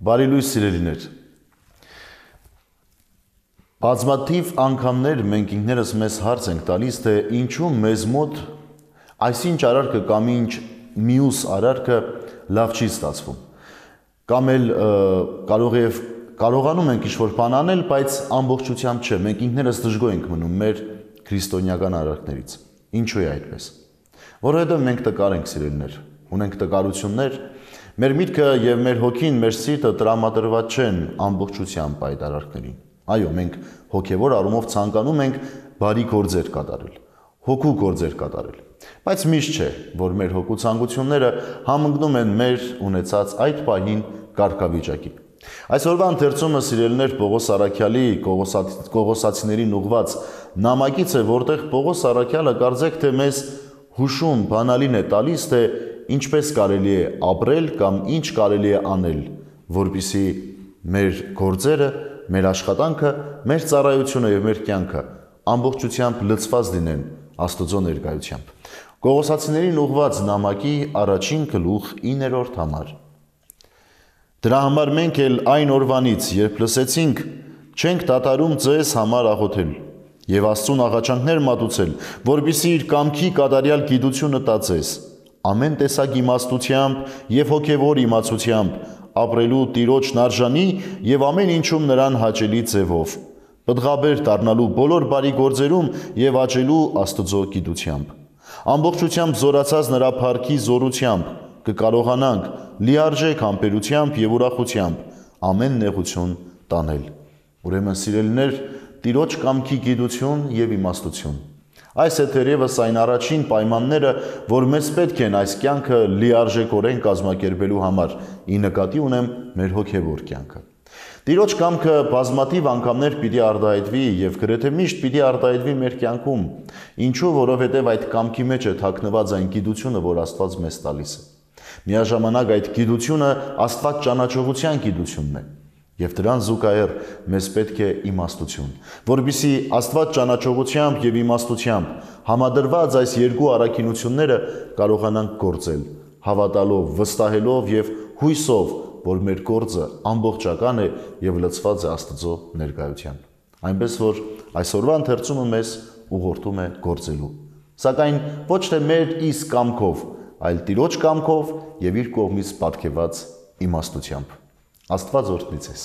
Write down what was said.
Բարի լույս սիրելիներ։ Բազմաթիվ անգամներ մենք ինքներս մեզ հարց ենք տալիս, թե ինչու մեզ մոտ այսինչ արարքը կամ ինչ մյուս արարքը լավ չի ստացվում։ Կամ էլ կարողանում ենք ինչ-որ բան անել, բայց ամբողջությամբ չէ, մենք ինքներս դժգոհ ենք մնում մեր քրիստոնեական արարքներից։ Ինչու է այդպես։ Որովհետև մենք տկար ենք, սիրելիներ, ունենք տկարություններ, մեր միտքը եւ մեր հոգին, մեր սիրտը տրամադրված չեն ամբողջությամբ այդ արարքներին։ Այո, մենք հոգևոր առումով ցանկանում ենք բարի գործեր կատարել, հոգու գործեր կատարել, բայց միշտ չէ, որ մեր հոգու ցանկությունները համընկնում են մեր ունեցած այդ պահին կարգավիճակի։ Այսօրվա ընթերցումը, սիրելիներ, Պողոս Առաքյալի Կողոսացիներին ուղված նամակից է, որտեղ Պողոս Առաքյալը կարծեք թե մեզ հուշում, բանալին է տալիս, թե ինչպես կարելի է ապրել կամ ինչ կարելի է անել, որպեսզի մեր գործերը, մեր աշխատանքը, մեր ծառայությունը եւ մեր կյանքը ամբողջությամբ լցված լինեն Աստծո ներկայությամբ։ Կողոսացիներին ուղված նամակի առաջին գլուխ 9-րդ համար։ Դրա համար մենք էլ այն օրվանից, երբ լսեցինք, չենք դադարում ձեզ համար աղոթել եւ Աստծուն աղաչանքներ մատուցել, որպեսզի իր կամքի կատարյալ գիտությունը տա ձեզ, ամեն տեսակ իմաստությամբ եւ հոգեվոր իմացությամբ ապրելու Տիրոջն արժանի եւ ամեն ինչում նրան հաճելի ձևով, պտղաբեր դառնալու բոլոր բարի գործերում եւ աճելու Աստծո գիտությամբ։ Ամբողջությամբ զորացած նրա փառքի զորությամբ կկարողանանք լիարժեք համբերությամբ եւ ուրախությամբ ամեն նեղություն տանել։ Ուրեմն, սիրելիներ, Տիրոջ կամքի գիտություն եւ իմաստություն։ Այս է թերևս այն առաջին պայմանները, որ մեզ պետք են այս կյանքը լիարժեքորեն կազմակերպելու համար, ի նկատի ունեմ մեր հոգևոր կյանքը։ Տիրոջ կամքը բազմաթիվ անգամներ պիտի արտահայտվի եւ գրեթե միշտ պիտի արտահայտվի մեր կյանքում։ Ինչու, որովհետեւ այդ կամքի մեջ է թաքնված այն գիտությունը, որ Աստված մեզ տալիս է։ Միաժամանակ այդ գիտությունը Աստված ճանաչողության գիտությունն է։ Եվ դրան զուգահեռ մեզ պետք է իմաստություն, որպեսզի Աստված ճանաչողությամբ եւ իմաստությամբ համադրված այս երկու առաքինությունները կարողանանք գործել, հավատալով, վստահելով եւ հույսով, որ մեր գործը ամբողջական է եւ լցված է Աստծո ներկայությամբ։ Այնպես որ այսօրվա ընթերցումը մեզ ուղղորդում է գործելու, սակայն ոչ թե մեր իսկ կամքով, այլ Տիրոջ կամքով եւ իր կողմից պատկեված իմաստությամբ։ Աստված օրհնի ձեզ։